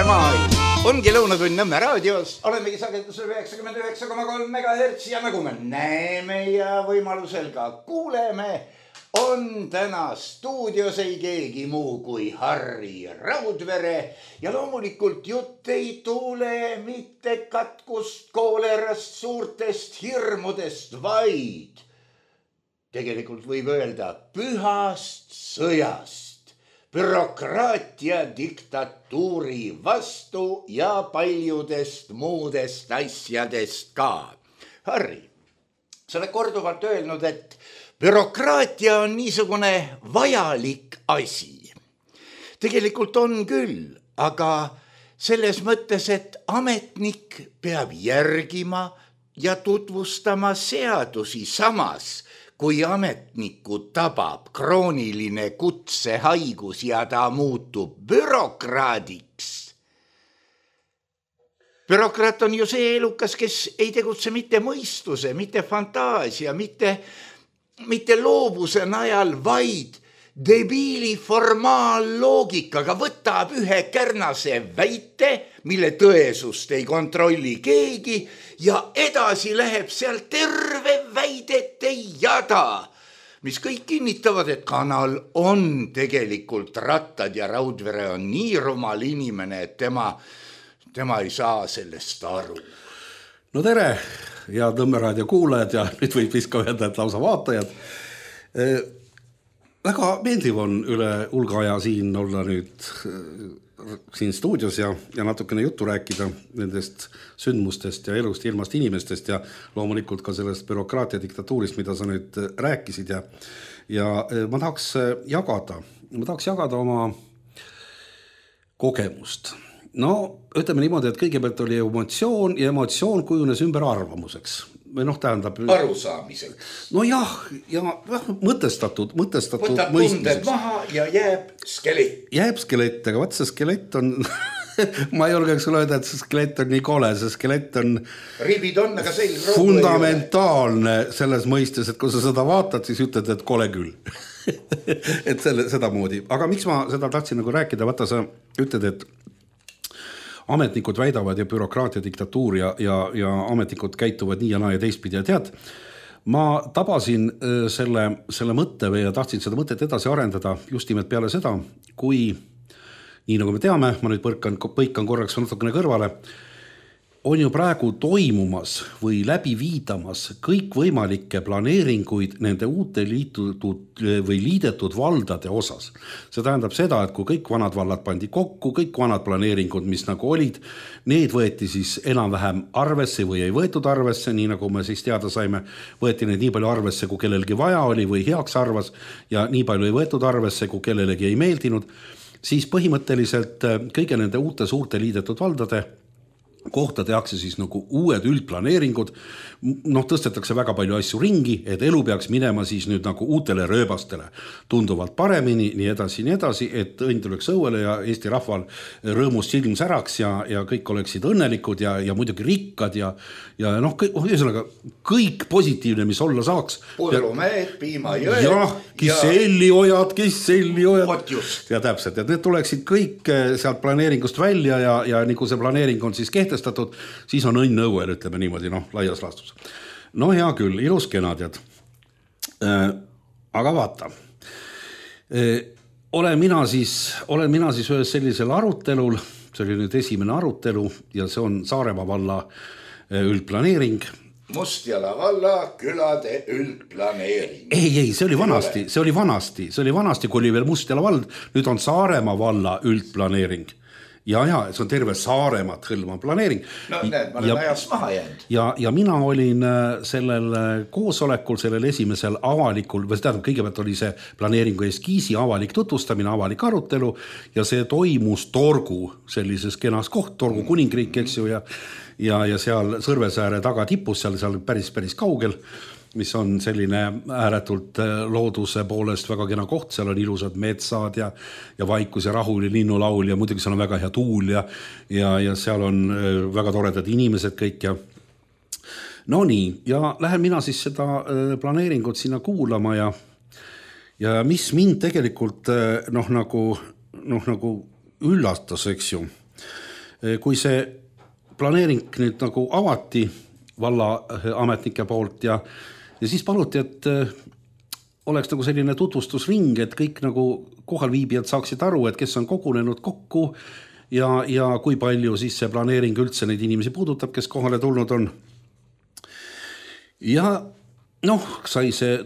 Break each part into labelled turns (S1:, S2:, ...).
S1: maailm. Ongi Lõunatund Nõmme raadios, olemegi sagedusel 99,3 MHz ja nagu me näeme ja võimalusel ka kuuleme, on täna stuudios ei keegi muu kui Harri Raudvere ja loomulikult jutt ei tule mitte katkust, koolerast, suurtest hirmudest, vaid tegelikult võib öelda pühast sõjast, bürokraatia diktatuuri vastu ja paljudest muudest asjadest ka. Harri, sa oled korduvalt öelnud, et bürokraatia on niisugune vajalik asi. Tegelikult on küll, aga selles mõttes, et ametnik peab järgima ja tutvustama seadusi samas, kui ametniku tabab krooniline kutsehaigus ja ta muutub bürokraadiks. Bürokraat on ju see elukas, kes ei tegutse mitte mõistuse, mitte fantaasia, mitte loovuse najal, vaid debiili formaalloogikaga võtab ühe kärnase väite, mille tõesust ei kontrolli keegi ja edasi läheb seal terve väidete jada, mis kõik kinnitavad, et kanal on tegelikult rattad ja Raudvere on nii rumal inimene, et tema ei saa sellest aru.
S2: No tere, head Nõmme raadio kuulajad ja nüüd võib vist ka öelda, et lausa vaatajad. Väga meeldiv on üle hulga aja siin olla nüüd siin stuudios ja natukene juttu rääkida nendest sündmustest ja elust, ilmast inimestest ja loomulikult ka sellest bürokraatia diktatuurist, mida sa nüüd rääkisid ja ma tahaks jagada oma kogemust. No, ütleme niimoodi, et kõigepealt oli emotsioon ja emotsioon kujunes ümber arvamuseks. Või tähendab...
S1: Arusaamiseks.
S2: No jah, ja mõtestatud
S1: võtab tunded maha ja jääb skelett.
S2: Jääb skelett, aga vaat see skelett on... ma ei julgeks öelda, et see skelett on nii kole, see skelett on...
S1: Ribid on, aga selg
S2: fundamentaalne selles mõistes, et kui sa seda vaatad, siis ütled, et kole küll. et seda moodi. Aga miks ma seda tahtsin nagu rääkida? Vaata, sa ütled, et ametnikud väidavad ja bürokraatia diktatuur ja ametnikud käituvad nii ja naa ja teistpidi ja tead, ma tabasin selle mõtte ja tahtsin seda mõtet edasi arendada just nimelt peale seda, kui, nii nagu me teame, ma nüüd põikan korraks natukene kõrvale, on ju praegu toimumas või läbi viidamas kõik võimalikke planeeringuid nende uute liidetud valdade osas. See tähendab seda, et kui kõik vanad vallad pandi kokku, kõik vanad planeeringud, mis nagu olid, need võeti siis enam-vähem arvesse või ei võetud arvesse, nii nagu me siis teada saime, võeti need nii palju arvesse, kui kellelgi vaja oli või heaks arvas ja nii palju ei võetud arvesse, kui kellelegi ei meeldinud, siis põhimõtteliselt kõige nende uute suurte liidetud valdade kohta tehakse siis nagu uued üldplaneeringud, tõstetakse väga palju asju ringi, et elu peaks minema siis nüüd nagu uutele rööbastele tunduvalt paremini, nii edasi, et õnn tuleks õuele ja Eesti rahval rõõmust silm säraks ja kõik oleksid õnnelikud ja muidugi rikkad ja kõik positiivne, mis olla saaks.
S1: Pudrumeed, piimajõed.
S2: Jah, kisselliojad. Ja täpselt, et need tuleksid kõik sealt planeeringust välja ja nii kui see planeering on siis kehtestatud, siis on õnn õuel, ütleme niimoodi, laias laastus. No hea küll, ilus kena tead. Aga vaata, olen mina siis ühes sellisel arutelul, see oli nüüd esimene arutelu ja see on Saaremaa valla üldplaneering.
S1: Mustjala valla külade üldplaneering.
S2: Ei, see oli vanasti, kui oli veel Mustjala vald, nüüd on Saaremaa valla üldplaneering. Ja, see on terve Saaremaad hõlmav planeering.
S1: No näed, ma olen ajast maha jäänud.
S2: Ja mina olin sellel koosolekul, sellel esimesel avalikul, kõigepealt oli see planeeringu eskiisi avalik tutvustamine, avalik arutelu ja see toimus Torgu sellises kenas koht, Torgu kuningriik, eks ju, ja seal Sõrvesääre taga tipus, seal päris kaugel, mis on selline ääretult looduse poolest väga kena koht, seal on ilusad metsad ja vaikus ja rahul ja linnulaul ja muidugi seal on väga hea tuul ja seal on väga toredad inimesed kõik ja no nii, ja lähen mina siis seda planeeringut sinna kuulama ja mis mind tegelikult nagu üllatas, eks ju, kui see planeering nüüd nagu avati valla ametnike poolt ja siis paluti, et oleks nagu selline tutvustusring, et kõik nagu kohalviibijad saaksid aru, et kes on kogunenud kokku ja kui palju siis see planeering üldse neid inimesi puudutab, kes kohale tulnud on. Ja sai see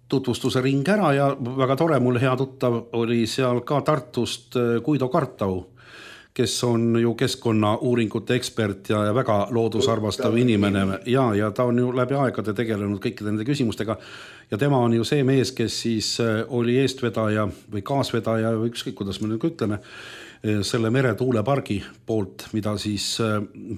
S2: tutvustuse ring ära ja väga tore, mul hea tuttav oli seal ka Tartust Guido Kartau, kes on ju keskkonnauuringute ekspert ja väga loodusarvastav inimene ja ta on ju läbi aegade tegelenud kõikide nende küsimustega ja tema on ju see mees, kes siis oli eestvedaja või kaasvedaja või ükskõik, kuidas me nüüd ütleme, selle meretuulepargi poolt, mida siis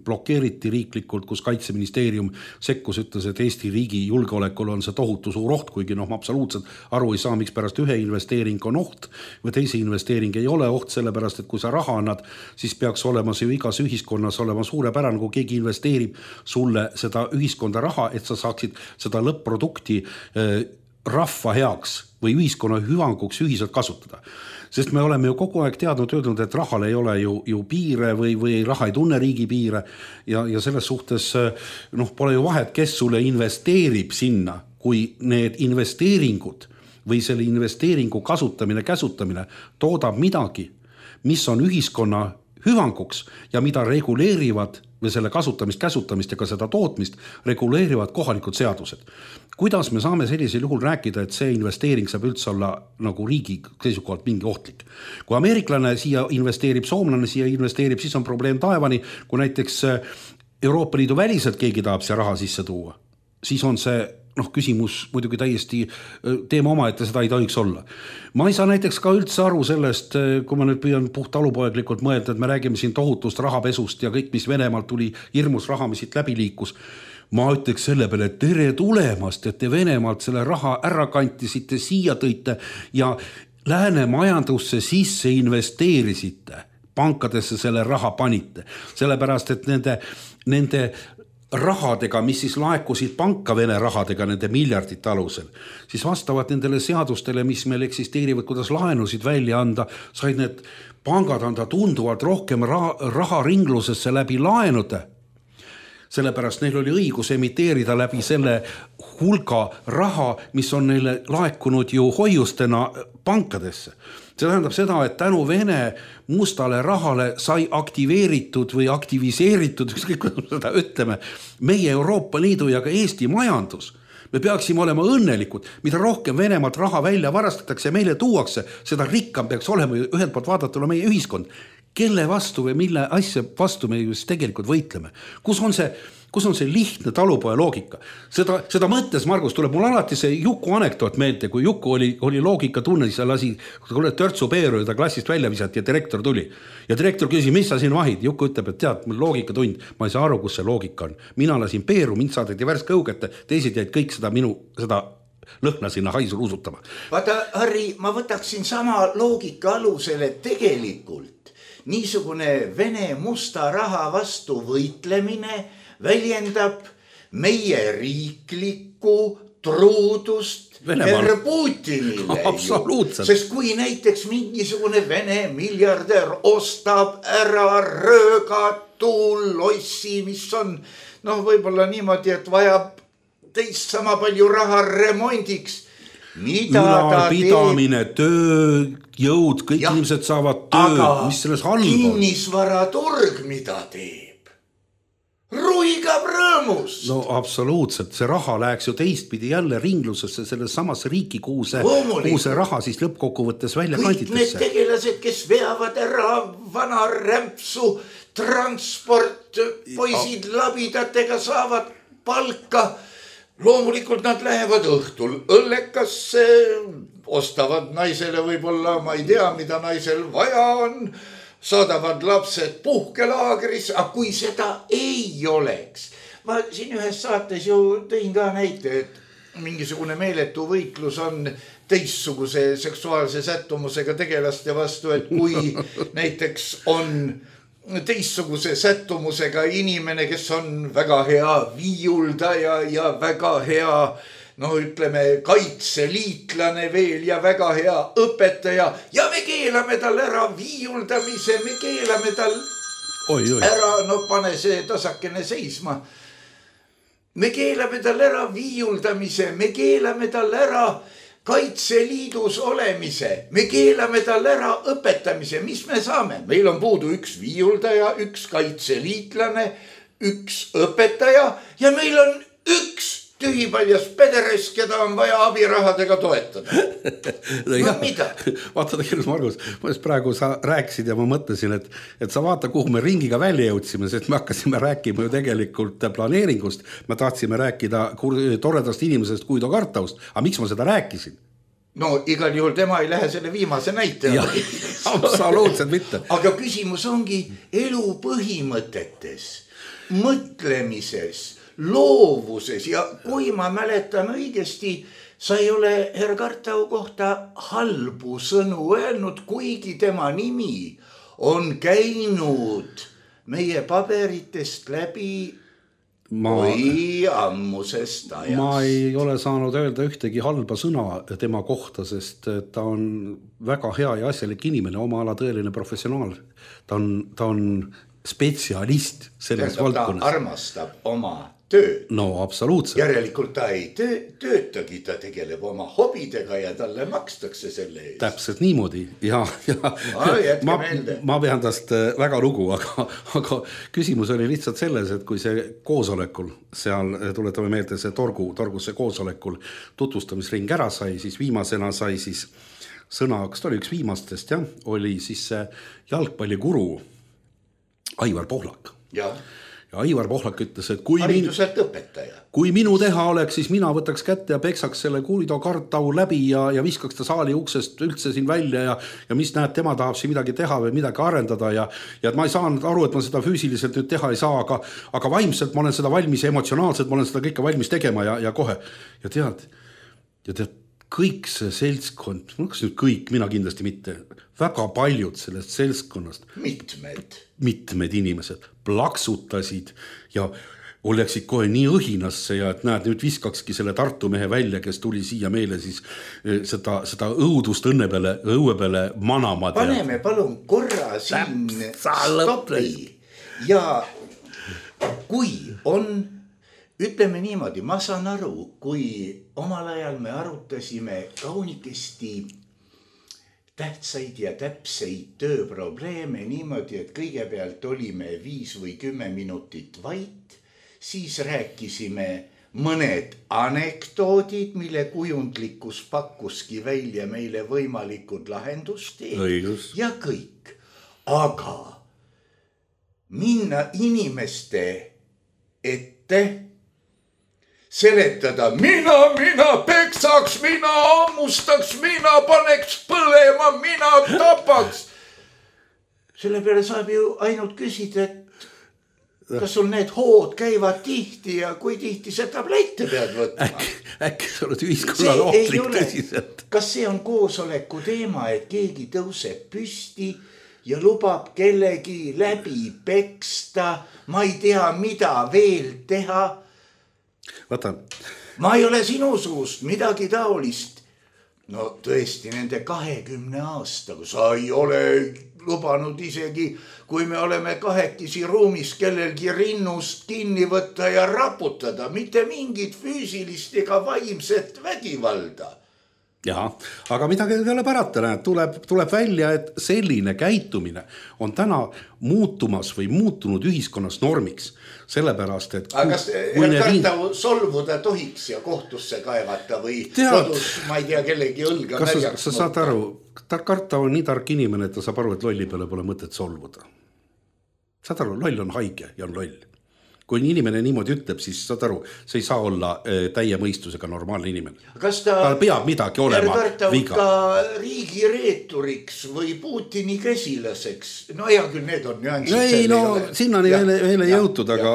S2: blokeeriti riiklikult, kus Kaitseministeerium sekkus, ütles, et Eesti riigi julgeolekul on see tohutu suur oht, kuigi ma absoluutselt aru ei saa, miks pärast ühe investeering on oht või teise investeering ei ole oht, sellepärast, et kui sa raha annad, siis peaks olema see igas ühiskonnas olema suurepärane, kui keegi investeerib sulle seda ühiskonda raha, et sa saaksid seda lõpp-produkti rahva heaks või ühiskonna hüvanguks ühiselt kasutada. Sest me oleme ju kogu aeg öelnud, et rahal ei ole ju piire või raha ei tunne riigi piire ja selles suhtes pole ju vahet, kes sulle investeerib sinna, kui need investeeringud või selle investeeringu kasutamine, käsutamine toodab midagi, mis on ühiskonna hüvanguks ja mida reguleerivad või selle kasutamist, käsutamist ja ka seda tootmist reguleerivad kohalikud seadused. Kuidas me saame sellisel juhul rääkida, et see investeering saab üldse olla nagu riigi seisukohalt mingi ohtlik? Kui ameeriklane siia investeerib, soomlane siia investeerib, siis on probleem taevani, kui näiteks Euroopa Liidu väliselt keegi tahab siia raha sisse tuua, siis on see küsimus muidugi täiesti teema oma, et seda ei tohiks olla. Ma ei saa näiteks ka üldse aru sellest, kui ma nüüd püüan puht alupoeglikult mõelda, et me räägime siin tohutust rahapesust ja kõik, mis Venemaalt tuli, hirmus raha, mis siit läbi liikus. Ma ütleks selle peale, et tere tulemast, et te Venemaalt selle raha ära kantisite, siia tõite ja lääne majandusse sisse investeerisite, pankadesse selle raha panite, sellepärast, et nende rahadega, mis siis laekusid panka Vene rahadega nende miljardite alusel, siis vastavalt nendele seadustele, mis meil eksisteerivad, kuidas laenusid välja anda, said need pangad anda tunduvalt rohkem raha ringlusesse läbi laenude. Sellepärast neil oli õigus emiteerida läbi selle hulga raha, mis on neile laekunud ju hoiustena pankadesse. See tähendab seda, et tänu Vene mustale rahale sai aktiveeritud või aktiviseeritud, ükskõik kuidas seda ütleme, meie Euroopa Liidu ja ka Eesti majandus. Me peaksime olema õnnelikud, mida rohkem Venemaalt raha välja varastatakse ja meile tuuakse, seda rikkam peaks olema ühelt poolt vaadatuna meie ühiskond. Kelle vastu või mille asja vastu me just tegelikult võitleme? Kus on see lihtne talupoja loogika? Seda mõttes, Margus, tuleb mul alati see Juku anekdoot meelde, kui Juku oli loogika tunnis ja lasi törtsu peeru ja ta klassist välja visati ja direktor tuli. Ja direktor küsis, mis sa siin vahid? Juku ütleb, et tead, mul loogika tund, ma ei saa aru, kus see loogika on. Mina lasin peeru, mind saadeti värske õugete, teised jäid kõik seda lõhna sinna haisul usutama.
S1: Vaata, Harri, ma võtaksin sama loogika alusele tegelikult. Niisugune Vene musta raha vastu võitlemine väljendab meie riiklikku truudust herr Putinile.
S2: Absoluutselt.
S1: Sest kui näiteks mingisugune Vene miljardär ostab ära röögatul lossi, mis on võib-olla niimoodi, et vajab teist sama palju raha remondiks, mida ta
S2: pidamine, töö, jõud, kõik inimesed saavad töö, mis selles halb on.
S1: Kinnisvaraturg, mida teeb? Ruigab rõõmus.
S2: No absoluutselt, see raha läheks ju teistpidi jälle ringlusesse selles samasse riiki, kuhu see raha siis lõppkokkuvõttes välja kanditakse.
S1: Kõik need tegelased, kes veavad ära vana rämpsu, transport, poisid labidatega saavad palka. Loomulikult nad lähevad õhtul õllekasse, ostavad naisele võib-olla, ma ei tea, mida naisel vaja on, saadavad lapsed puhkelaagris, aga kui seda ei oleks. Ma siin ühes saates ju tõin ka näite, et mingisugune meeletu võitlus on teistsuguse seksuaalse sättumusega tegelaste vastu, et kui näiteks on teistsuguse sättumusega inimene, kes on väga hea viiuldaja ja väga hea, ütleme, kaitseliitlane veel ja väga hea õpetaja ja me keelame tal ära viiuldamise, me keelame tal ära, no pane see tasakene seisma. Me keelame tal ära viiuldamise, me keelame tal ära Kaitseliidus olemise, me keelame tal ära õpetamise, mis me saame? Meil on puudu üks viiuldaja, üks kaitseliitlane, üks õpetaja ja meil on üks tühipaljas pederes, keda on vaja abirahadega toetada. No mida?
S2: Vaata tegelikult, Margus, ma praegu sa rääkisid ja ma mõtlesin, et sa vaata, kuhu me ringiga välja jõudsime, sest me hakkasime rääkima ju tegelikult planeeringust. Me tahtsime rääkida toredast inimesest Guido Kartaust. Aga miks ma seda rääkisin?
S1: No igal juhul tema ei lähe selle viimase näite.
S2: Absoluutselt mitte.
S1: Aga küsimus ongi elu põhimõtetes, mõtlemises, loovuses ja kui ma mäletan õigesti, sa ei ole herr Kartau kohta halbu sõnu öelnud, kuigi tema nimi on käinud meie paberitest läbi või ammusest ajast.
S2: Ma ei ole saanud öelda ühtegi halba sõna tema kohta, sest ta on väga hea ja asjalik inimene, oma ala tõeline professionaal. Ta on spetsialist selles valdkonnas.
S1: Ta armastab oma tööd.
S2: No absoluutselt.
S1: Järelikult ta ei töötagi, ta tegeleb oma hobidega ja talle makstakse selle eest.
S2: Täpselt niimoodi ja ma pean tast väga lugu, aga küsimus oli lihtsalt selles, et kui see koosolekul, seal tuletame meelde see torgus see koosolekul tutvustamisring ära sai, siis viimasena sai siis sõna, kas ta oli üks viimastest, oli siis see jalgpalliguru Aivar Pohlak. Ja Aivar Pohlak ütles, et kui minu teha oleks, siis mina võtaks kätte ja peksaks selle Guido Kartau läbi ja viskaks ta saali uksest üldse siin välja ja mis näed, tema tahab siin midagi teha või midagi arendada ja et ma ei saanud aru, et ma seda füüsiliselt nüüd teha ei saa, aga vaimselt ma olen seda valmis ja emotsionaalselt ma olen seda kõike valmis tegema ja kohe. Ja tead, kõik see seltskond, kas nüüd kõik, mina kindlasti mitte, väga paljud sellest seltskonnast. Mitmed inimesed plaksutasid ja oleksid kohe nii õhinasse ja et näed, nüüd viskakski selle Tartu mehe välja, kes tuli siia meile siis seda õudust õue peale manama.
S1: Paneme palun korra siin stopi ja kui on, ütleme niimoodi, ma saan aru, kui omal ajal me arutasime kaunikesti tähtsaid ja täpseid tööprobleeme niimoodi, et kõigepealt olime 5 või 10 minutit vait, siis rääkisime mõned anekdoodid, mille kujundlikkus pakkuski välja meile võimalikud lahendusteed ja kõik. Aga minna inimeste ette, seletada, mina peksaks, mina ammustaks, mina paneks põlema, mina tapaks. Selle peale saab ju ainult küsida, et kas sul need hood käivad tihti ja kui tihti sa tablette pead võtma.
S2: Äkki sa oled ühiskonnal ohtlik tõsiselt.
S1: Kas see on koosoleku teema, et keegi tõuseb püsti ja lubab kellegi läbi peksta, ma ei tea, mida veel teha.
S2: Vaata.
S1: Ma ei ole sinu suust midagi taolist. No tõesti, nende 20 aastaga sa ei ole lubanud isegi, kui me oleme kahekesi ruumis kellelgi rinnust kinni võtta ja raputada, mitte mingit füüsilist ega vaimset vägivalda.
S2: Jah, aga midagi ei ole parata, näed, tuleb välja, et selline käitumine on täna muutumas või muutunud ühiskonnas normiks. Sellepärast, et
S1: aga kas Kartau solvuda tohiks ja kohtusse kaevata või kodus, ma ei tea, kellegi õlga märjaks.
S2: Kas sa saad aru, Kartau on nii tark inimene, et ta saab aru, et lolli peale pole mõtet solvuda. Saad aru, loll on haige ja on loll. Kui inimene niimoodi ütleb, siis saad aru, see ei saa olla täie mõistusega normaalne inimene.
S1: Kas
S2: ta peab midagi olema
S1: viga? Ka riigireeturiks või Putini käsilaseks? No hea küll, need on nüansid.
S2: Ei, no sinnani veel ei jõutud, aga...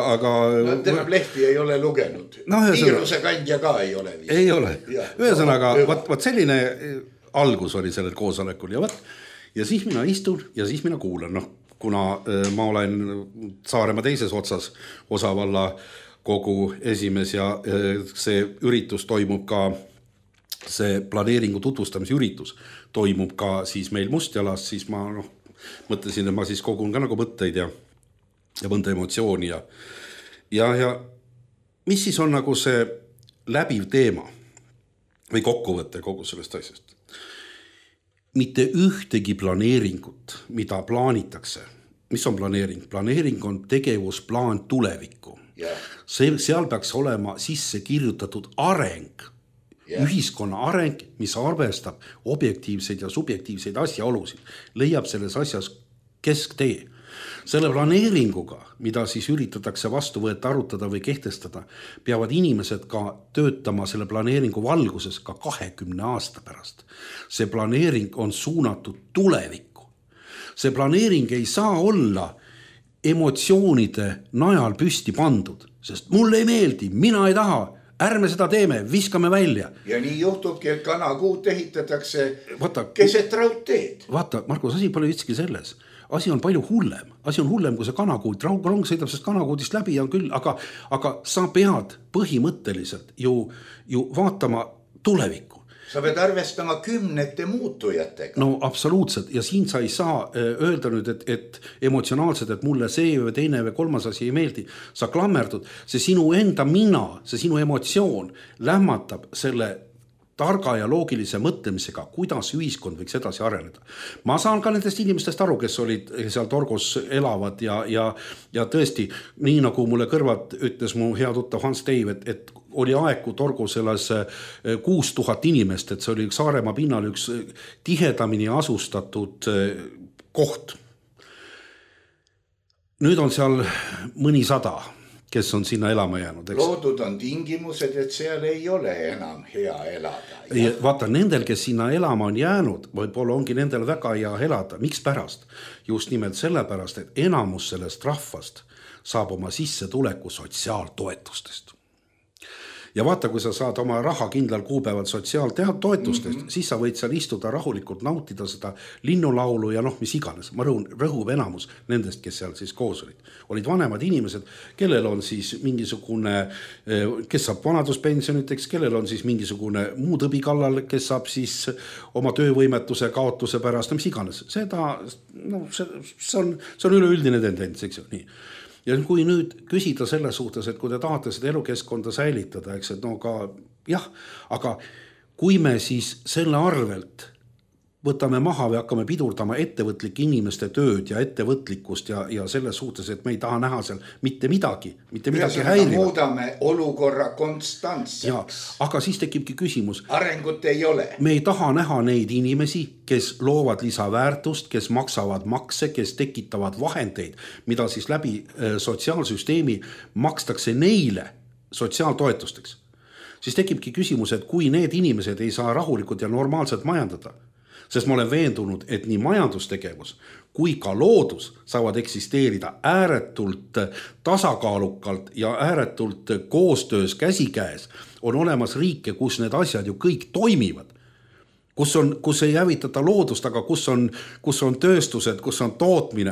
S1: No tähendab lehti ei ole lugenud. Viiruse kandja ka ei ole.
S2: Ei ole. Ühesõnaga, vaat selline algus oli sellel koosolekul ja siis mina istun ja siis mina kuulan, kuna ma olen Saaremaa teises otsas osavalla kogu esimees ja see üritus toimub ka, see planeeringu tutvustamise üritus toimub ka siis meil Mustjalas, siis ma mõtlesin, et ma siis kogun ka nagu mõtteid ja mõnda emotsiooni ja mis siis on nagu see läbiv teema või kokkuvõte kogu sellest asjast? Mitte ühtegi planeeringut, mida plaanitakse. Mis on planeering? Planeering on tegevusplaan tulevikku. Seal peaks olema sisse kirjutatud areng, ühiskonna areng, mis arvestab objektiivseid ja subjektiivseid asjaolusid, leiab selles asjas kesktee. Selle planeeringuga, mida siis üritatakse vastu võtta, arutada või kehtestada, peavad inimesed ka töötama selle planeeringu valguses ka 20 aasta pärast. See planeering on suunatud tulevikku. See planeering ei saa olla emotsioonide najal püsti pandud, sest mulle ei meeldi, mina ei taha, ärme seda teeme, viskame välja.
S1: Ja nii juhtubki, et kanakuut ehitatakse keset raudteed.
S2: Vaata, Markus, asi pole ütski selles. Asi on palju hullem. Asi on hullem, kui see kanakuut. Rong sõidab sest kanakuudist läbi on küll, aga sa pead põhimõtteliselt ju vaatama tulevikku.
S1: Sa pead arvestama 10 muutujatega.
S2: No absoluutselt. Ja siin sa ei saa öelda nüüd, et emotsionaalselt, et mulle see või teine või kolmas asi ei meeldi. Sa klammerdud. See sinu enda mina, see sinu emotsioon lämmatab selle targa ja loogilise mõtlemisega, kuidas ühiskond võiks edasi areneda. Ma saan ka nendest inimestest aru, kes olid seal Torgos elavad ja tõesti, nii nagu mulle kõrvad ütles mu hea tuttav Hans Dave, et oli aeg, kui Torgos elas 6000 inimest, et see oli Saaremaa pinnal üks tihedamini asustatud koht. Nüüd on seal mõni 100, kes on sinna elama jäänud.
S1: Loodud on tingimused, et seal ei ole enam hea elada.
S2: Vaata, nendel, kes sinna elama on jäänud, võib-olla ongi nendel väga hea elada. Miks pärast? Just nimelt sellepärast, et enamus sellest rahvast saab oma sissetuleku sotsiaaltoetustest. Ja vaata, kui sa saad oma raha kindlal kuupäeval sotsiaaltoetustest, siis sa võid seal istuda rahulikult, nautida seda linnulaulu ja mis iganes. Ma rõhub enamus nendest, kes seal siis koos olid. Olid vanemad inimesed, kellel on siis mingisugune, kes saab vanaduspensioniteks, kellel on siis mingisugune muu tõbi kallal, kes saab siis oma töövõimetuse kaotuse pärast, mis iganes. See on üleüldine tendents, eks ju, nii. Ja kui nüüd küsida selle suhtes, et kui te tahate seda elukeskkonda säilitada, eks, et aga kui me siis selle arvelt võtame maha või hakkame pidurdama ettevõtlike inimeste tööd ja ettevõtlikkust ja selles suhtes, et me ei taha näha seal mitte midagi häirivat.
S1: Muudame olukorra konstantseks.
S2: Aga siis tekibki küsimus.
S1: Arengut ei ole.
S2: Me ei taha näha neid inimesi, kes loovad lisaväärtust, kes maksavad makse, kes tekitavad vahendeid, mida siis läbi sotsiaalsüsteemi makstakse neile sotsiaaltoetusteks. Siis tekibki küsimus, et kui need inimesed ei saa rahulikult ja normaalselt majandada, sest ma olen veendunud, et nii majandustegevus kui ka loodus saavad eksisteerida ääretult tasakaalukalt ja ääretult koostöös käsikäes. On olemas riike, kus need asjad ju kõik toimivad. Kus ei hävitata loodust, aga kus on tööstused, kus on tootmine.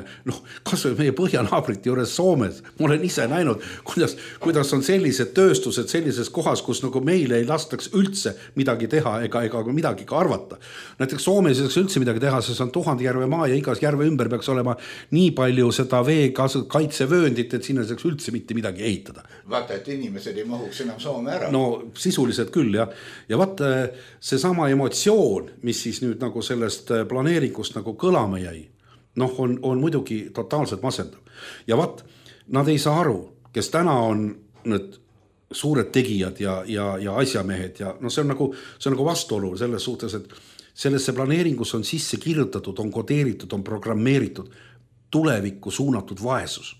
S2: Kas või meie põhjanaabrite juures Soomes. Ma olen ise näinud, kuidas on sellised tööstused sellises kohas, kus nagu meile ei lastaks üldse midagi teha ega midagi ka arvata. Näiteks Soomes ei saaks üldse midagi teha, sest on 1000 järve maa ja igas järve ümber peaks olema nii palju seda vee kaitsevööndit, et sinna saaks üldse mitte midagi ehitada.
S1: Vaata, et inimesed ei mahuks enam Soome ära.
S2: No sisuliselt küll, jah. Ja vaata, seesama emotsioon, mis siis nüüd nagu sellest planeeringust nagu kõlama jäi, on muidugi totaalselt masendav. Ja nad ei saa aru, kes täna on need suured tegijad ja asjamehed ja see on nagu vastuolu selles suhtes, et sellesse planeeringus on sisse kirjutatud, on kodeeritud, on programmeeritud tulevikku suunatud vaesus.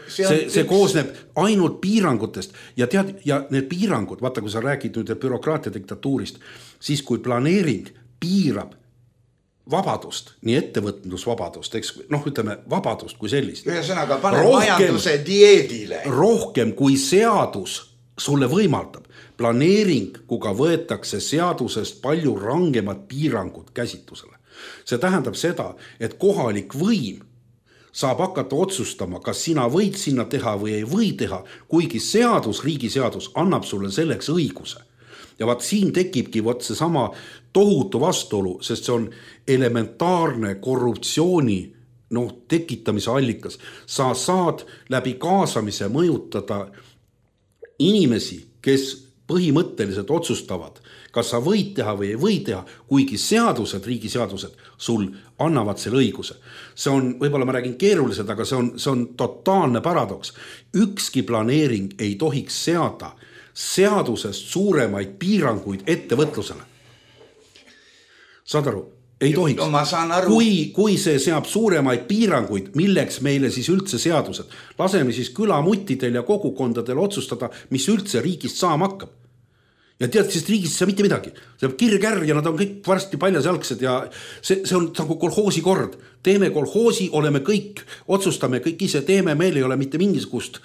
S2: See koosneb ainult piirangutest ja need piirangud, vaata, kui sa räägid nüüd bürokraatia diktatuurist, siis kui planeering piirab vabadust, nii ettevõtlusvabadust, ütleme vabadust kui sellist.
S1: Ühesõnaga, pane majanduse dieedile.
S2: Rohkem kui seadus sulle võimaldab. Planeeringuga võetakse seadusest palju rangemad piirangud käsitlusele. See tähendab seda, et kohalik võim saab hakata otsustama, kas sina võid sinna teha või ei või teha, kuigi riigiseadus annab sulle selleks õiguse. Ja siin tekibki seesama tohutu vastuolu, sest see on elementaarne korruptsiooni tekitamise allikas. Sa saad läbi kaasamise mõjutada inimesi, kes põhimõtteliselt otsustavad, kas sa võid teha või ei või teha, kuigi seadused, riigiseadused sul annavad selle õiguse. See on, võib-olla ma räägin keerulised, aga see on totaalne paradoks. Ükski planeering ei tohiks seada seadusest suuremaid piiranguid ettevõtlusele. Saad aru? Ei tohiks.
S1: No, ma saan aru.
S2: Kui see seab suuremaid piiranguid, milleks meile siis üldse seadused? Laseme siis külamuttidel ja kogukondadel otsustada, mis üldse riigist saama hakkab. Ja tead, sest riigist ei saa mitte midagi. See on kirg-ärg ja nad on kõik varsti paljasjalgsed ja see on nagu kolhoosi kord. Teeme kolhoosi, oleme kõik, otsustame kõik ise, teeme, meil ei ole mitte mingisugust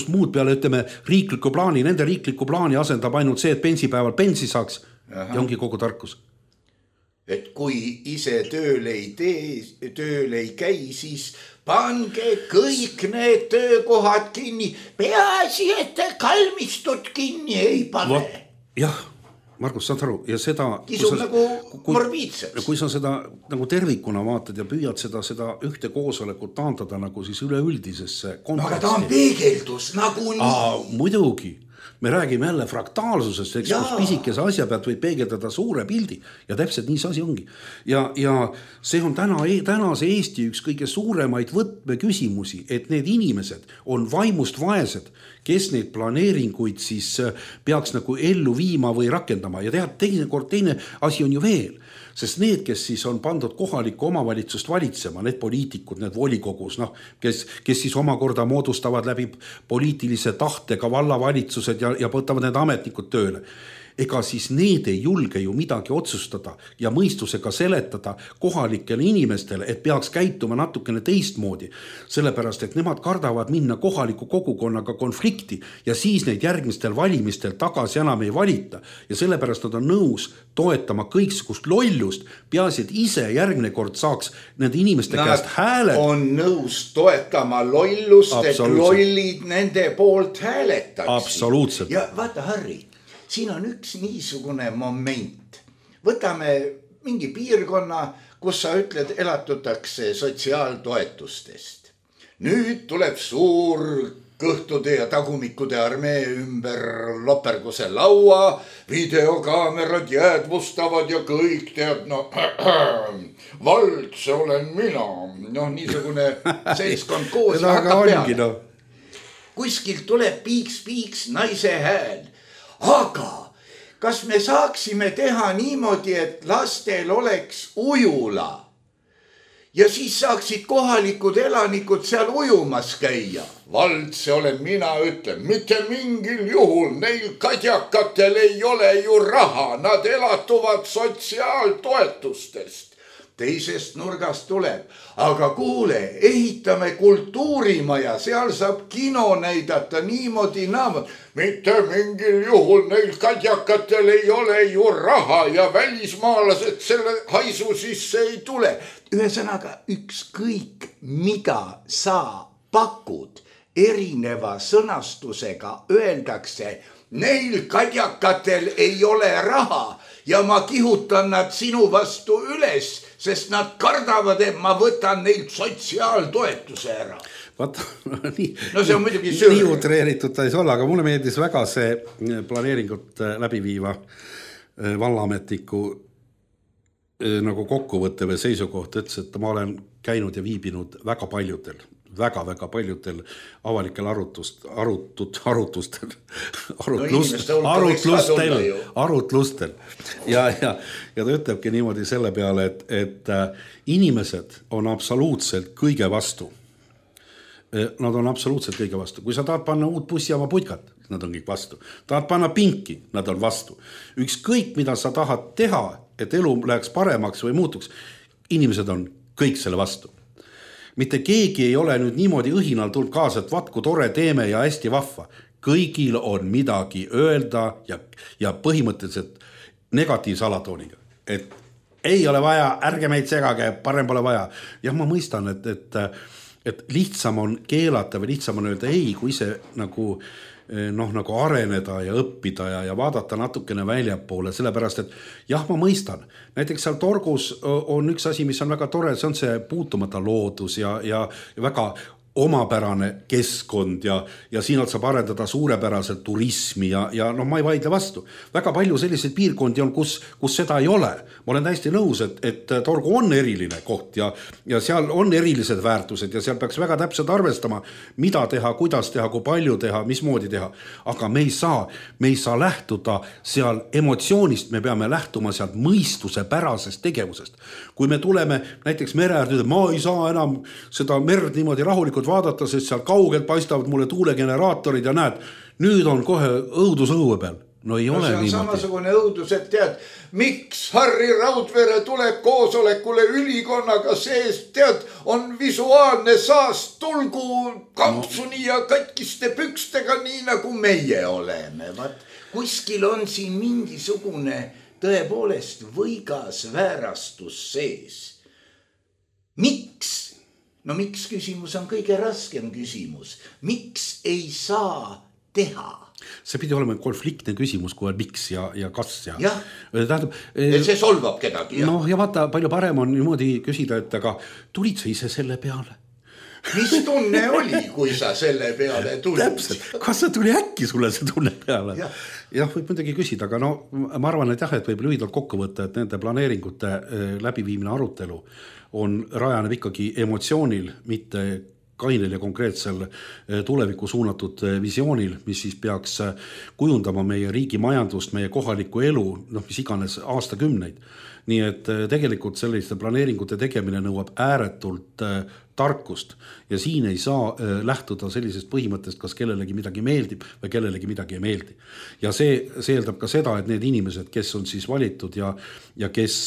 S2: muud peale, ütleme, riikliku plaani. Nende riikliku plaani asendab ainult see, et pensipäeval pensi saaks. Ja ongi kogu tarkus.
S1: Et kui ise tööl ei käi, siis pange kõik need töökohad kinni. Peaasi, et kalmistut kinni ei pane.
S2: Jah, Margus, saad aru, ja seda...
S1: Kisub nagu morbiidseks.
S2: Kui sa seda nagu tervikuna vaatad ja püüad seda ühte koosolekut taandada nagu siis üleüldisesse konteksti.
S1: Aga ta on peegeldus nagu nii.
S2: Muidugi. Me räägime jälle fraktaalsusest, eks kus pisikese asja pealt võib peegeldada suure pildi ja täpselt nii see asi ongi. Ja see on tänase Eesti üks kõige suuremaid võtmeküsimusi, et need inimesed on vaimust vaesed, kes neid planeeringuid siis peaks nagu ellu viima või rakendama. Ja teine asi on ju veel, sest need, kes siis on pandud kohalikku omavalitsust valitsema, need poliitikud, need volikogus, kes siis omakorda moodustavad läbi poliitilise tahtega vallavalitsused ja võtavad need ametnikud tööle. Ega siis need ei julge ju midagi otsustada ja mõistusega seletada kohalikele inimestele, et peaks käituma natukene teistmoodi. Sellepärast, et nemad kardavad minna kohaliku kogukonnaga konflikti ja siis neid järgmistel valimistel tagasi enam ei valita. Ja sellepärast nad on nõus toetama kõiksugust lollust, peaasi, et ise järgmine kord saaks nende inimeste käest hääled.
S1: On nõus toetama lollust, et lollid nende poolt hääletaks.
S2: Absoluutselt.
S1: Ja vaata, Harri, siin on üks niisugune moment. Võtame mingi piirkonna, kus sa ütled, elatutakse sotsiaaltoetustest. Nüüd tuleb suur kõhtude ja tagumikude armee ümber loperguse laua, videokaamerad jäädvustavad ja kõik tead, vald, see olen mina. Niisugune seltskond koos hakkab peale. Kuskilt tuleb piiks naise hääl. Aga kas me saaksime teha niimoodi, et lastel oleks ujula ja siis saaksid kohalikud elanikud seal ujumas käia? Vald, see olen mina, ütlen, mitte mingil juhul, neil kadjakatel ei ole ju raha, nad elatuvad sotsiaaltoetustest. Teisest nurgast tuleb, aga kuule, ehitame kultuurimaja, seal saab kino näidata niimoodi naamad. Mitte mingil juhul neil kadjakatel ei ole ju raha ja välismaalased selle haisu sisse ei tule. Ühesõnaga, ükskõik mida sa pakud erineva sõnastusega, öeldakse, neil kadjakatel ei ole raha ja ma kihutan nad sinu vastu üles, sest nad kardavad, et ma võtan neilt sotsiaaltoetuse ära.
S2: Vaata,
S1: see on muidugi süür.
S2: Nii utreeritud ta ei ole, aga mulle meeldis väga see planeeringut läbiviiva vallaametiku nagu kokkuvõtte või seisukoht, ütles, et ma olen käinud ja viibinud väga paljudel avalikel arutlustel. Ja ta ütlebki niimoodi selle peale, et inimesed on absoluutselt kõige vastu. Nad on absoluutselt kõige vastu. Kui sa tahad panna uut bussijaama putkat, nad on kõik vastu. Tahad panna pinki, nad on vastu. Ükskõik, mida sa tahad teha, et elu läheks paremaks või muutuks, inimesed on kõik selle vastu. Mitte keegi ei ole nüüd niimoodi õhinal tulnud kaasa, et vatku tore teeme ja hästi vahva. Kõigil on midagi öelda ja põhimõtteliselt negatiivse alatooniga. Et ei ole vaja, ärge meid segage, parem pole vaja. Ja ma mõistan, et lihtsam on keelata või lihtsam on öelda ei, kui see nagu nagu areneda ja õppida ja vaadata natukene väljapoole, sellepärast, et jah, ma mõistan. Näiteks seal Torgus on üks asi, mis on väga tore, see on see puutumata loodus ja väga omapärane keskkond ja siinalt saab arendada suurepäraselt turismi ja ma ei vaidle vastu. Väga palju selliseid piirkondi on, kus seda ei ole. Ma olen täiesti nõus, et Torgu on eriline koht ja seal on erilised väärtused ja seal peaks väga täpselt arvestama, mida teha, kuidas teha, kui palju teha, mismoodi teha. Aga me ei saa lähtuda seal emotsioonist, me peame lähtuma sealt mõistuse pärasest tegevusest. Kui me tuleme näiteks mere äärde, ma ei saa enam seda merd niimoodi rahulikult vaadata, sest seal kaugelt paistavad mulle tuulegeneraatorid ja näed, nüüd on kohe õudus õue peal. No ei ole niimoodi.
S1: See on samasugune õudus, et tead, miks Harri Raudvere tuleb koosolekule ülikonnaga sees, tead, on visuaalne saast, tulgu kampsuni ja katkiste pükstega, nii nagu meie oleme. Kuskil on siin mingisugune tõepoolest võigas väärastus sees. Miks? No miks küsimus on kõige raskem küsimus. Miks ei saa teha?
S2: See pidi olema konfliktne küsimus, kui on miks ja kas
S1: ja. Tähendab, see solvab kedagi.
S2: Ja. Ja vaata, palju parem on niimoodi küsida, et aga tulid sa ise selle peale?
S1: Mis tunne oli, kui sa selle peale tulid?
S2: Täpselt, kas sa tuli äkki sulle see tunne peale? Jah, võib muidugi küsida, aga ma arvan, et jah, et võib lühidalt kokku võtta, et nende planeeringute läbiviimine arutelu on rajaneb ikkagi emotsioonil, mitte kainel ja konkreetsel tulevikku suunatud visioonil, mis siis peaks kujundama meie riigi majandust, meie kohalikku elu, mis iganes aastakümneid. Nii et tegelikult selliste planeeringute tegemine nõuab ääretult tarkust ja siin ei saa lähtuda sellisest põhimõttest, kas kellelegi midagi meeldib või kellelegi midagi ei meeldi. Ja see eeldab ka seda, et need inimesed, kes on siis valitud ja kes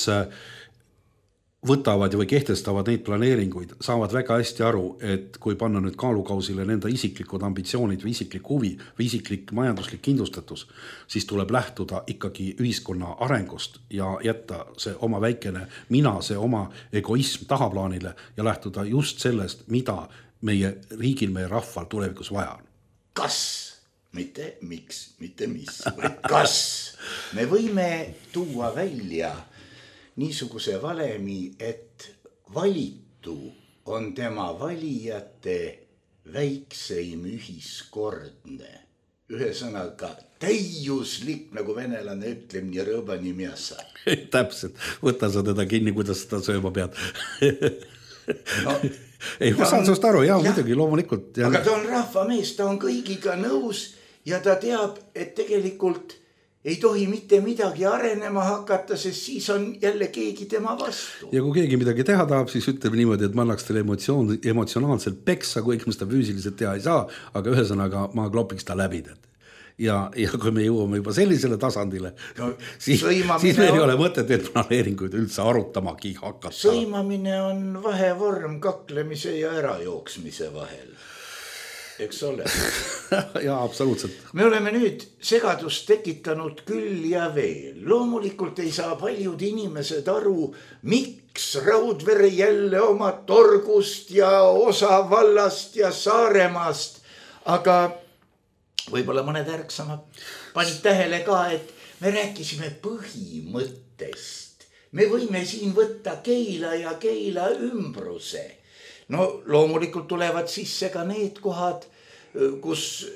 S2: võtavad või kehtestavad neid planeeringuid, saavad väga hästi aru, et kui panna nüüd kaalukausile nende isiklikud ambitsioonid või isiklik huvi või isiklik majanduslik kindlustatus, siis tuleb lähtuda ikkagi ühiskonna arengust ja jätta see oma väikene mina, see oma egoism tahaplaanile ja lähtuda just sellest, mida meie riigil, meie rahval tulevikus vaja on.
S1: Kas, mitte miks, mitte mis, kas me võime tuua välja niisuguse valemi, et valitu on tema valijate väikseim ühiskordne. Ühesõnaga täiuslik, nagu venelane ütleb, nii rõõba nii miasa.
S2: Täpselt, võta sa teda kinni, kuidas seda sööma pead. Ei, ma saan sinust aru, jah, muidugi, loomulikult.
S1: Aga ta on rahvamees, ta on kõigiga nõus ja ta teab, et tegelikult ei tohi mitte midagi arenema hakata, sest siis on jälle keegi tema vastu.
S2: Ja kui keegi midagi teha tahab, siis ütleme niimoodi, et ma annaks teile emotsionaalselt peksa, kui me seda füüsiliselt teha ei saa, aga ühesõnaga ma klopiks ta läbi. Ja kui me jõuame juba sellisele tasandile, siis meil ei ole mõtet need planeeringuid üldse arutamagi hakata.
S1: Sõimamine on vahevorm kaklemise ja ärajooksmise vahel. Eks ole.
S2: Jaa, absoluutselt.
S1: Me oleme nüüd segadust tekitanud küll ja veel. Loomulikult ei saa paljud inimesed aru, miks Raudvere jälle oma Torgust ja osa vallast ja Saaremaast. Aga võib-olla mõned ärksamad panid tähele ka, et me rääkisime põhimõttest. Me võime siin võtta Keila ja Keila ümbruse. No loomulikult tulevad sisse ka need kohad, kus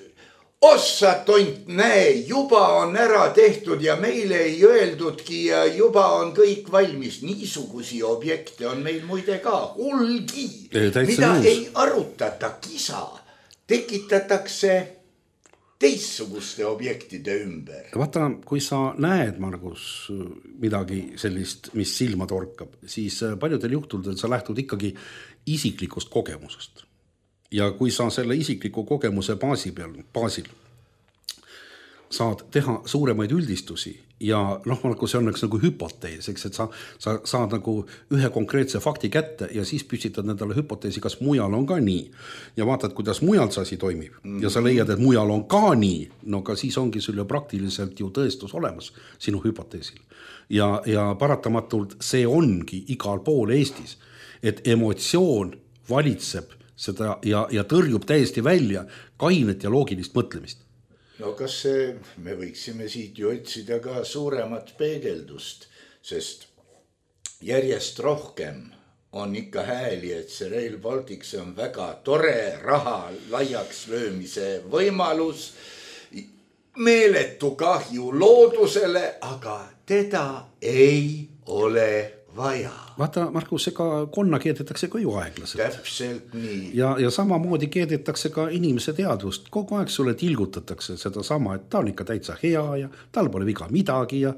S1: ossa tont näe, juba on ära tehtud ja meile ei öeldudki ja juba on kõik valmis. Niisugusi objekte on meil muide ka hulgi, mida ei arutata, kisa. Tekitatakse teistsuguste objektide ümber.
S2: Vaata, kui sa näed, Margus, midagi sellist, mis silma torkab, siis paljudel juhtudel sa lähtud ikkagi isiklikust kogemusest. Ja kui sa selle isikliku kogemuse baasil saad teha suuremaid üldistusi ja see on nagu hüpotees, eks, et sa saad nagu ühe konkreetse fakti kätte ja siis püstitad nendele hüpoteesi, kas mujal on ka nii. Ja vaatad, kuidas mujal see asi toimib ja sa leiad, et mujal on ka nii, no ka siis ongi sul ju praktiliselt ju tõestus olemas sinu hüpoteesil. Ja paratamatult see ongi igal pool Eestis, et emotsioon valitseb seda ja tõrjub täiesti välja kainet ja loogilist mõtlemist.
S1: no kas me võiksime siit ju otsida ka suuremat peegeldust, sest järjest rohkem on ikka hääli, et see Rail Baltic, see on väga tore raha laiaks löömise võimalus, meeletu kahju loodusele, aga teda ei ole vaja.
S2: Vaata, Markus, ega konna keedetakse ka ju aeglaselt.
S1: Täpselt nii.
S2: Ja samamoodi keedetakse ka inimese teadvust. Kogu aeg sulle tilgutatakse seda sama, et ta on ikka täitsa hea ja tal pole viga midagi ja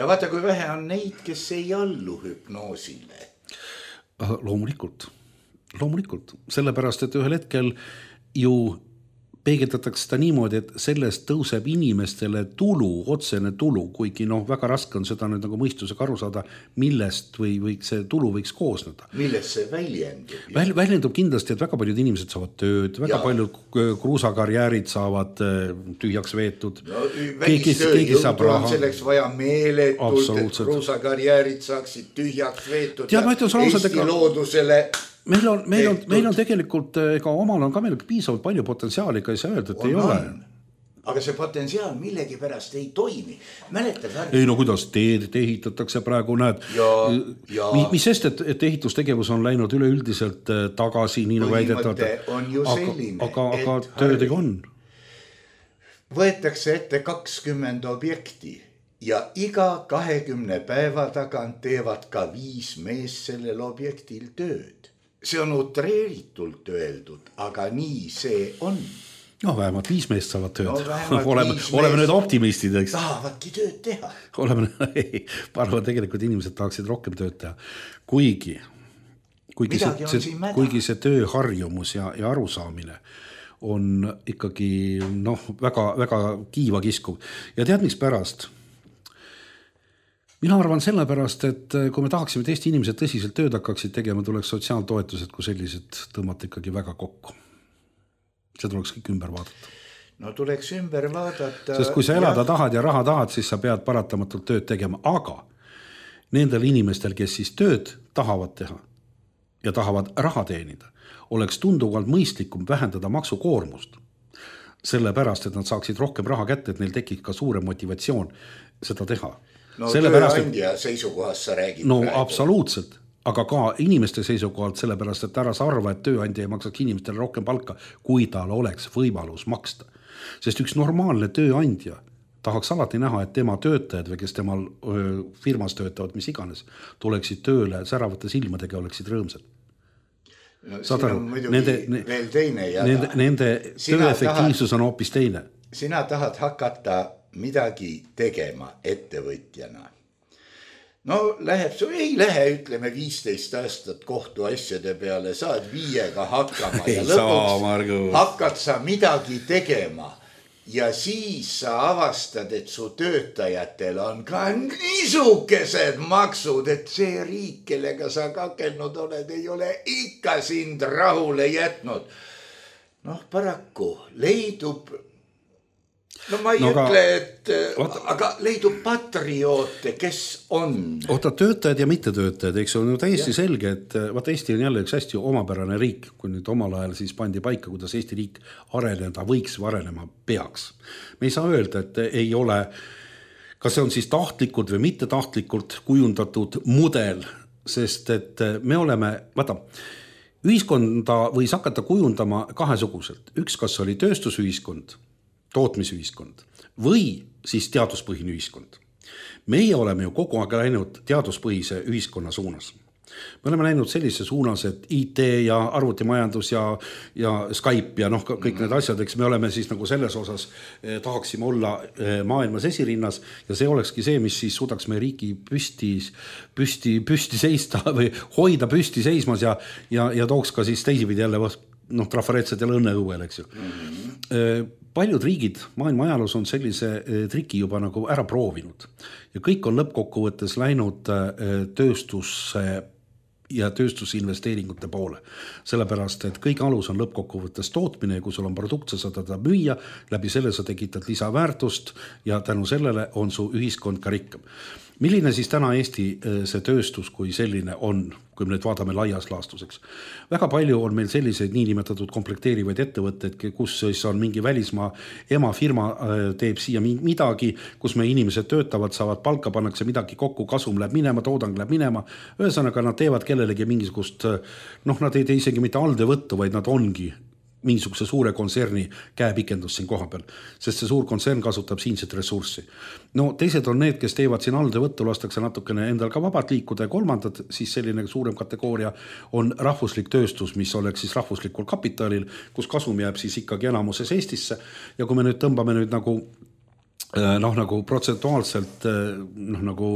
S1: vaata, kui vähe on neid, kes ei allu hüpnoosile.
S2: Loomulikult, sellepärast, et ühel hetkel ju peegeldatakse seda niimoodi, et sellest tõuseb inimestele tulu, otsene tulu, kuigi väga raske on seda nüüd nagu mõistusega aru saada, millest või see tulu võiks koosneda.
S1: Millest see väljendub?
S2: Väljendub kindlasti, et väga paljud inimesed saavad tööd, väga paljud kruusakarjäärid saavad tühjaks veetud.
S1: No, välistööjõudu on selleks vaja meeletult, et kruusakarjäärid saaksid tühjaks veetud ja Eesti loodusele.
S2: Meil on tegelikult, ega omal on ka meil piisavalt palju potentsiaali, ega ei saa öelda, et ei ole.
S1: Aga see potentsiaal millegi pärast ei toimi.
S2: Ei, no kuidas teed ehitatakse praegu, näed. Mis sest, et ehitustegevus on läinud üleüldiselt tagasi, nii nagu väidetavad.
S1: On ju selline,
S2: aga töödega on.
S1: Võetakse ette 20 objekti ja iga 20 päeva tagant teevad ka 5 mees sellel objektil tööd. See on utreeritult öeldud, aga nii see on.
S2: No vähemalt 5 meest saavad tööd. Oleme nüüd optimistid, eks?
S1: Tahavadki tööd teha.
S2: Arvan, tegelikult inimesed tahaksid rohkem tööd teha. Kuigi see tööharjumus ja arusaamine on ikkagi väga, väga kiiva kiskuv. Ja tead, miks pärast? Mina arvan sellepärast, et kui me tahaksime, et Eesti inimesed tõsiselt tööd hakkaksid tegema, tuleks sotsiaaltoetused, kui sellised tõmmata ikkagi väga kokku. See tuleks kõik ümber vaadata.
S1: No tuleks ümber vaadata.
S2: Sest kui sa elada tahad ja raha tahad, siis sa pead paratamatult tööd tegema. Aga nendel inimestel, kes siis tööd tahavad teha ja tahavad raha teenida, oleks tunduvalt mõistlikum vähendada maksukoormust. Sellepärast, et nad saaksid rohkem raha kätte, et neil tekib ka suurem motivatsioon seda teha.
S1: No tööandja seisukohast sa räägid
S2: praegu. Absoluutselt, aga ka inimeste seisukohalt sellepärast, et ära sa arva, et tööandja ei maksaks inimestele rohkem palka, kui tal oleks võimalus maksta. Sest üks normaalne tööandja tahaks alati näha, et tema töötajad või kes temal firmas töötavad, mis iganes, tuleksid tööle säravate silmadega, oleksid rõõmsad.
S1: No, siin on muidugi veel teine jada.
S2: Nende tööefektiivsus on hoopis teine.
S1: Sina tahad hakata midagi tegema ettevõtjana. No ei lähe, ütleme 15 aastat kohtuasjade peale, saad 5 hakkama ja lõpuks hakkad sa midagi tegema ja siis sa avastad, et su töötajatel on ka niisukesed maksud, et see riik, kellega sa kakelnud oled, ei ole ikka sind rahule jätnud. Paraku leidub ma ei ütle, et aga leidub patrioote, kes on.
S2: Töötajad ja mittetöötajad, eks on ju täiesti selge, et Eesti on jälle üks hästi omapärane riik, kui nüüd omal ajal siis pandi paika, kuidas Eesti riik areneda võiks või arenema peaks. Me ei saa öelda, et ei ole, kas see on siis tahtlikult või mitte tahtlikult kujundatud mudel, sest et me oleme, ühiskonda võis hakata kujundama kahesuguselt. Üks, kas oli tööstusühiskond, tootmisühiskond või siis teaduspõhine ühiskond. Meie oleme ju kogu aeg läinud teaduspõhise ühiskonna suunas. Me oleme läinud sellise suunas, et IT ja arvutimajandus ja Skype ja kõik need asjad, eks me oleme siis nagu selles osas tahaksime olla maailmas esirinnas ja see olekski see, mis siis suudaks meie riiki püsti seista või hoida püsti seismas ja tooks ka siis teisipidi jälle trafaretset ja õnne õuel, eks ju. Paljud riigid maailma ajaloos on sellise triki juba nagu ära proovinud ja kõik on lõppkokkuvõttes läinud tööstusse ja tööstusinvesteeringute poole. Sellepärast, et kõik alus on lõppkokkuvõttes tootmine ja kui sul on produkt, sa saad teda müüa, läbi selle sa tekitad lisaväärtust ja tänu sellele on su ühiskond ka rikkam. milline siis täna Eesti see tööstus kui selline on, kui me nüüd vaatame laias laastuseks? Väga palju on meil selliseid niinimetatud komplekteerivaid ettevõtteid, kus siis on mingi välismaa emafirma teeb siia midagi, kus me inimesed töötavad, saavad palka, pannakse midagi kokku, kasum läheb minema, toodang läheb minema. Ühesõnaga nad teevad kellelegi mingisugust, nad ei tee isegi mitte alltöövõttu, vaid nad ongi mingisuguse suure kontserni käepikendus siin koha peal, sest see suur kontsern kasutab siinset ressurssi. No teised on need, kes teevad siin alltöövõttu, lastakse natukene endal ka vabalt liikuda ja kolmandad, siis selline suurem kategooria on rahvuslik tööstus, mis oleks siis rahvuslikul kapitalil, kus kasum jääb siis ikkagi enamuses Eestisse ja kui me nüüd tõmbame nüüd nagu protsentuaalselt nagu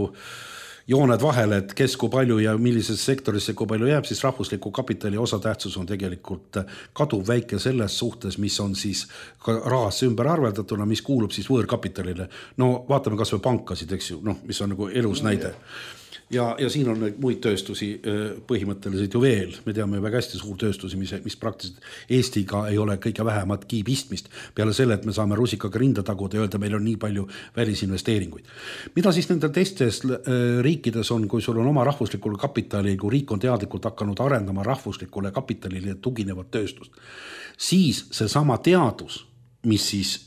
S2: jooned vahele, et kes kui palju ja millises sektorisse kui palju jääb, siis rahvusliku kapitali osatähtsus on tegelikult kaduv väike selles suhtes, mis on siis rahasse ümber arveldatuna, mis kuulub siis võõrkapitalile. No vaatame kas või pankasid, eks ju, mis on nagu elus näide. Ja siin on muid tööstusi põhimõtteliselt ju veel. Me teame väga hästi suur tööstusi, mis praktiliselt Eestiga ei ole kõige vähemat kiibistmist. Peale selle, et me saame rusikaga rinda taguda ja öelda, meil on nii palju välisinvesteeringuid. Mida siis nendel teistes riikides on, kui sul on oma rahvuslikul kapitali, kui riik on teadlikult hakanud arendama rahvuslikule kapitalile tuginevat tööstust, siis see sama teadus, mis siis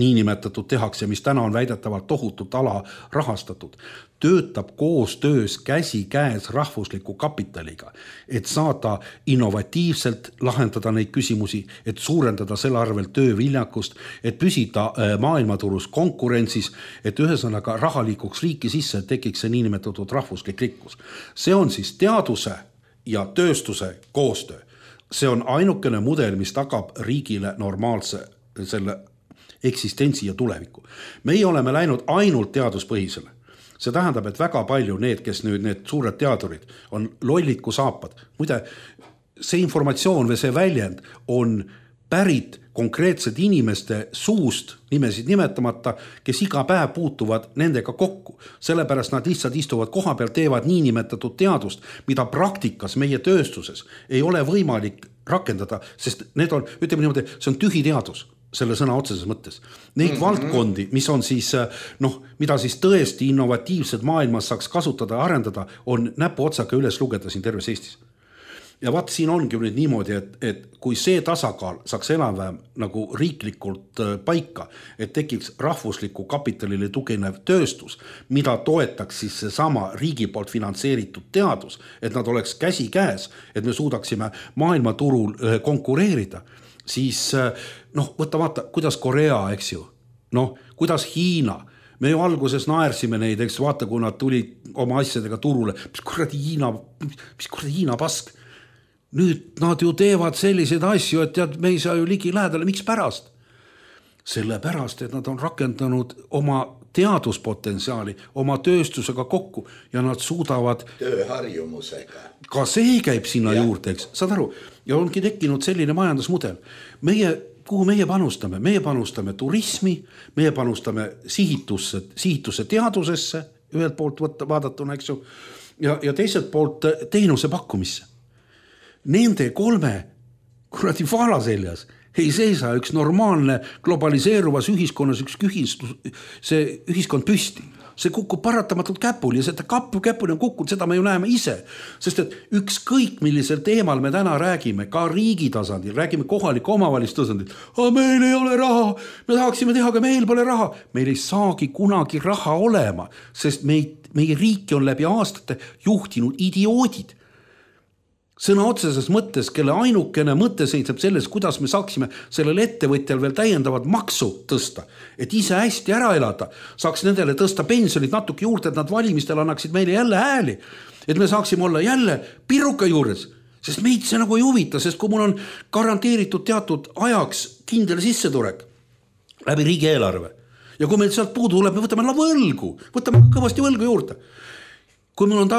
S2: niinimetatud tehakse, mis täna on väidetavalt tohutult ala rahastatud, töötab koostöös käsi käes rahvusliku kapitaliga, et saada innovatiivselt lahendada neid küsimusi, et suurendada selle arvel tööviljakust, et püsida maailmaturus konkurentsis, et ühesõnaga raha liikuks riiki sisse, et tekiks see niinimetatud rahvuslik rikkus. See on siis teaduse ja tööstuse koostöö. See on ainukene mudel, mis tagab riigile normaalse selle eksistentsi ja tuleviku. Meie oleme läinud ainult teaduspõhisele. See tähendab, et väga palju need, kes nüüd need suured teadurid on lollid kui saapad. Muide, see informatsioon või see väljend on pärit konkreetsed inimeste suust, nimesid nimetamata, kes iga päev puutuvad nendega kokku. Sellepärast nad lihtsalt istuvad koha peal, teevad niinimetatud teadust, mida praktikas meie tööstuses ei ole võimalik rakendada, sest need on, ütleme niimoodi, see on tühi teadus selle sõna otseses mõttes. Neid valdkondi, mis on siis, mida siis tõesti innovatiivsed maailmas saaks kasutada ja arendada, on näpu otsaga üles lugeda siin terves Eestis. Ja vaat siin ongi nüüd niimoodi, et kui see tasakaal saaks enam-vähem nagu riiklikult paika, et tekiks rahvusliku kapitalile tuginev tööstus, mida toetaks siis see sama riigi poolt finantseeritud teadus, et nad oleks käsi käes, et me suudaksime maailmaturul konkureerida, siis võtta vaata, kuidas Korea, eks ju, kuidas Hiina, me ju alguses naersime neid, eks vaata, kui nad tulid oma asjadega turule, mis kuradi Hiina pask, nüüd nad ju teevad selliseid asju, et tead, me ei saa ju ligi lähedale, miks pärast? Sellepärast, et nad on rakendanud oma teaduspotentsiaali, oma tööstusega kokku ja nad suudavad
S1: tööharjumusega.
S2: Ka see käib sinna juurde, eks, saad aru? Ja ongi tekkinud selline majandusmudel. Kuhu meie panustame? Meie panustame turismi, meie panustame sihitusse teadusesse, ühelt poolt vaadatuna, eks ju, ja teiselt poolt teenuse pakkumisse. Nende 3 kuradi vaala seljas ei seisa üks normaalne globaliseeruvas ühiskonnas see ühiskond püsti. See kukub paratamatult käpuli ja seda käpuli on kukkunud, seda me ju näeme ise. Sest et ükskõik millisel teemal me täna räägime, ka riigi tasandil, räägime kohaliku omavalitsuse tasandil, meil ei ole raha, me tahaksime teha, aga meil pole raha. Meil ei saagi kunagi raha olema, sest meie riiki on läbi aastate juhtinud idioodid. Sõna otseses mõttes, kelle ainukene mõte seisab selles, kuidas me saaksime sellel ettevõtjal veel täiendavat maksu tõsta, et ise hästi ära elada, saaks nendele tõsta pensionid natuke juurde, et nad valimistel annaksid meile jälle hääli, et me saaksime olla jälle piruka juures, sest meid see nagu ei huvita, sest kui mul on garanteeritud teatud ajaks kindel sissetulek läbi riigieelarve ja kui meil sealt puudu tuleb, me võtame kõvasti võlgu juurde. Kui mul on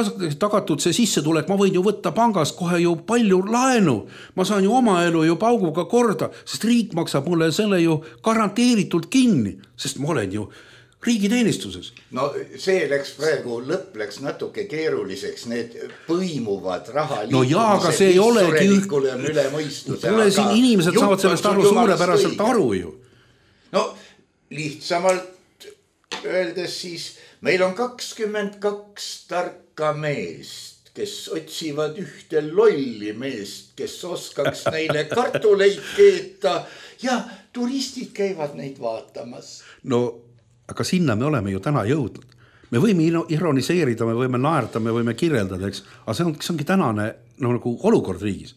S2: tagatud see sissetulek, ma võin ju võtta pangast kohe ju palju laenu. Ma saan ju oma elu ju pauguga korda, sest riik maksab mulle selle ju garanteeritult kinni, sest ma olen ju riigiteenistuses.
S1: No see lõpp läks natuke keeruliseks, need põimuvad raha
S2: no jaa, aga see ei olegi
S1: on üle mõistuse.
S2: Tule siin inimesed saavad sellest aru suurepäraselt aru ju.
S1: No lihtsamalt öeldes siis meil on 22 tarka meest, kes otsivad ühte lolli meest, kes oskaks neile kartuleid keeta ja turistid käivad neid vaatamas.
S2: No aga sinna me oleme ju täna jõudnud. Me võime ironiseerida, me võime naerda, me võime kirjeldada, eks, aga see ongi tänane nagu olukord riigis.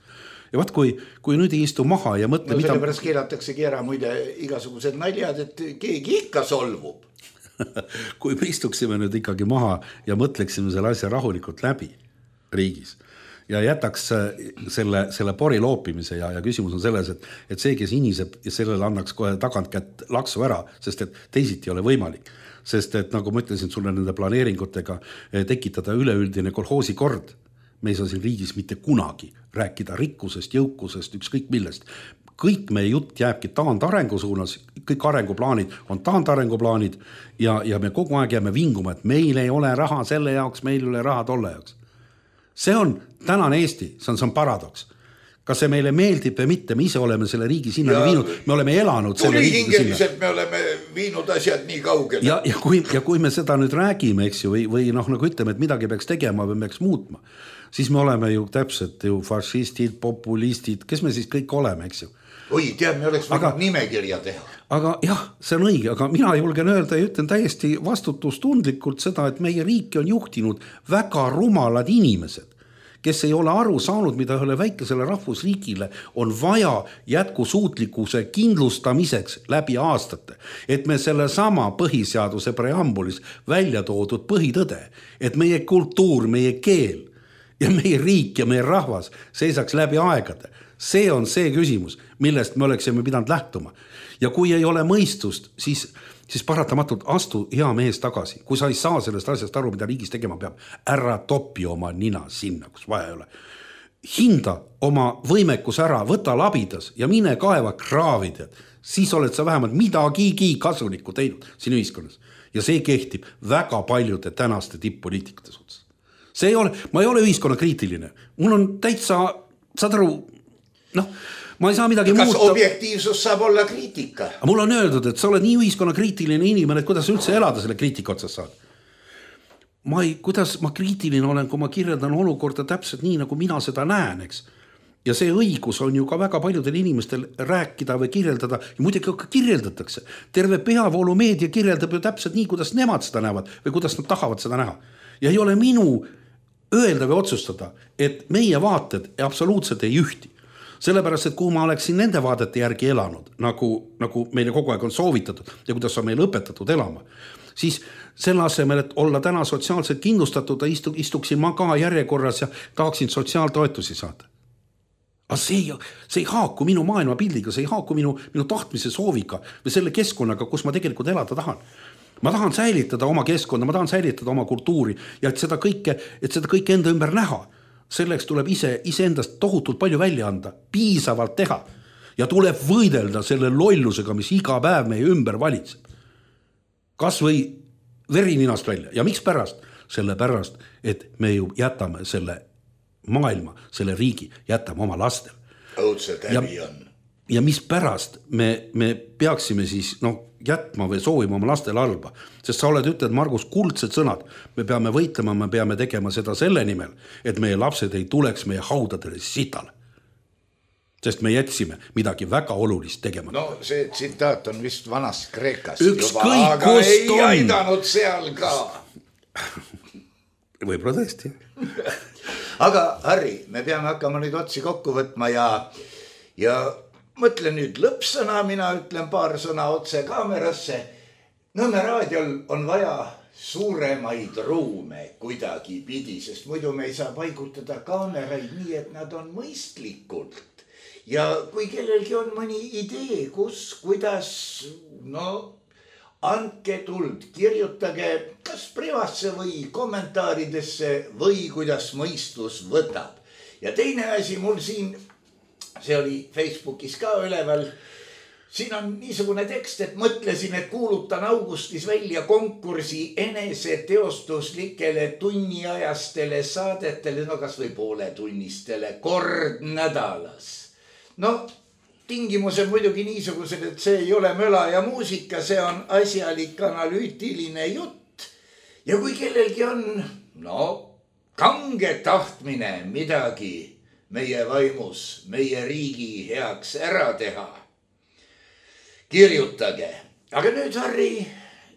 S2: Ja vaat kui nüüd ei istu maha ja mõtle,
S1: mida... Sellepärast keelataksegi ära muide igasugused naljad, et keegi ikka solvub.
S2: Kui me istuksime nüüd ikkagi maha ja mõtleksime selle asja rahulikult läbi riigis ja jätaks selle pori loopimise ja küsimus on selles, et see, kes iniseb ja sellele annaks kohe tagantkätt laksu ära, sest et teisiti ei ole võimalik. Sest et nagu ma ütlesin sulle nende planeeringutega tekitada üleüldine kolhoosi kord, me ei saa siin riigis mitte kunagi rääkida rikkusest, jõukusest, ükskõik millest. Kõik meie jutt jääbki taandarengu suunas, kõik arenguplaanid on taandarenguplaanid ja me kogu aeg jääme vinguma, et meil ei ole raha selle jaoks, meil ei ole raha tolle jaoks. See on tänane Eesti, see on paradoks. Kas see meile meeldib või mitte, me ise oleme selle riigi sinna viinud, me oleme elanud selle riigiga sinna.
S1: Me oleme viinud asjad nii kaugele.
S2: Ja kui me seda nüüd räägime, eks ju, või nagu ütleme, et midagi peaks tegema või peaks muutma, siis me oleme ju täpselt ju fašistid, populistid, kes me siis kõik oleme, eks ju.
S1: Oi, tead, me oleks võinud nimekirja teha.
S2: Aga jah, see on õige, aga mina julgen öelda ja ütlen täiesti vastutustundlikult seda, et meie riiki on juhtinud väga rumalad inimesed, kes ei ole aru saanud, mida ühele väikesele rahvusriigile on vaja jätkusuutlikkuse kindlustamiseks läbi aastate. Et me selle sama põhiseaduse preambulis välja toodud põhitõde, et meie kultuur, meie keel ja meie riik ja meie rahvas seisaks läbi aegade. See on see küsimus, millest me oleksime pidanud lähtuma. Ja kui ei ole mõistust, siis paratamatult astu hea mees tagasi. Kui sa ei saa sellest asjast aru, mida riigis tegema peab, ära topi oma nina sinna, kus vaja ei ole. Hinda oma võimekus ära, võta labidas ja mine kaeva kraavid. Siis oled sa vähemalt midagigi kasulikku teinud siin ühiskonnas. Ja see kehtib väga paljude tänaste tipp-poliitikute suhtes. Ma ei ole ühiskonna kriitiline. Mul on täitsa, saad aru, ma ei saa midagi muuta.
S1: Kas objektiivsus saab olla kriitika?
S2: Mul on öeldud, et sa oled nii ühiskonna kriitiline inimene, et kuidas üldse elada selle kriitika otsas saad. Kuidas ma kriitiline olen, kui ma kirjeldan olukorda täpselt nii, nagu mina seda näen, eks. Ja see õigus on ju ka väga paljudel inimestel rääkida või kirjeldada ja muidugi ka kirjeldatakse. Terve peavoolumeedia kirjeldab ju täpselt nii, kuidas nemad seda näevad või kuidas nad tahavad seda näha. Ja ei ole minu öelda või otsustada, et meie vaated absoluutselt ei ühti. Sellepärast, et kui ma oleksin nende vaadete järgi elanud, nagu meile kogu aeg on soovitatud ja kuidas on meile õpetatud elama, siis selle asemel, et olla täna sotsiaalselt kindlustatud, istuksin ma ka järjekorras ja tahaksin sotsiaaltoetusi saada. Aga see ei haaku minu maailmapildiga, see ei haaku minu tahtmise sooviga või selle keskkonnaga, kus ma tegelikult elada tahan. Ma tahan säilitada oma keskkonda, ma tahan säilitada oma kultuuri ja et seda kõike enda ümber näha. Selleks tuleb iseendast tohutult palju välja anda, piisavalt teha ja tuleb võidelda selle lollusega, mis iga päev meie ümber valitseb. Kas või verininast välja ja miks pärast? Sellepärast, et me ju jätame selle maailma, selle riigi, jätame oma lastel.
S1: Õudselt häbi on.
S2: Ja mis pärast me peaksime siis jätma või soovima oma lastele halba. Sest sa oled ütled, Margus, kuldsed sõnad. Me peame võitlema, me peame tegema seda selle nimel, et meie lapsed ei tuleks meie haudadele sitale. Sest me jätsime midagi väga olulist tegema.
S1: No see tsitaat on vist vanast Kreekast
S2: juba,
S1: aga ei aidanud seal ka.
S2: Võib-olla tõesti.
S1: Aga Harri, me peame hakkama nüüd otsi kokku võtma ja mõtle nüüd lõppsõna, mina ütlen paar sõna otse kaamerasse. Nõmme raadiol on vaja suuremaid ruume kuidagi pidi, sest muidu me ei saa paigutada kaameraid nii, et nad on mõistlikult. Ja kui kellelgi on mõni idee, kuidas, andke tuld, kirjutage kas privasse või kommentaaridesse või kuidas mõistus võtab. Ja teine asi mul siin, see oli Facebookis ka üleval, siin on niisugune tekst, et mõtlesin, et kuulutan augustis välja konkursi eneseteostuslikele tunniajastele saadetele, kas või pooletunnistele kord nädalas. tingimused muidugi niisugused, et see ei ole möla ja muusika, see on asjalik analüütiline jutt. Ja kui kellelgi on, kange tahtmine midagi meie vaimus, meie riigi heaks ära teha, kirjutage. Aga nüüd, Harri,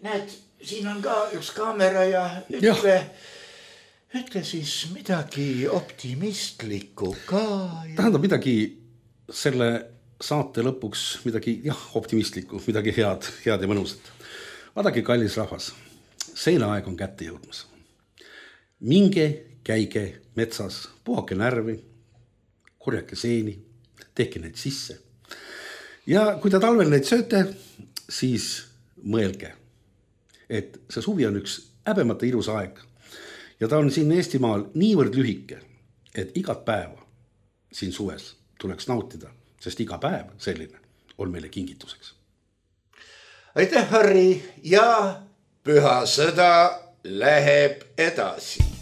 S1: näed, siin on ka üks kaamera ja ütle siis midagi optimistlikku ka.
S2: Tähendab midagi selle saate lõpuks, midagi optimistlikku, midagi head ja mõnusat. Vaadake, kallis rahvas, seinaaeg on kätte jõudmas. Minge, käige metsas, puhake närvi, korjake seeni, tehke neid sisse. Ja kui te talvel neid sööte, siis mõelge, et see suvi on üks häbemata ilus aeg. Ja ta on siin Eestimaal niivõrd lühike, et igat päeva siin suves tuleks nautida, sest iga päev selline on meile kingituseks.
S1: Aitäh, Harri, ja püha sõda läheb edasi.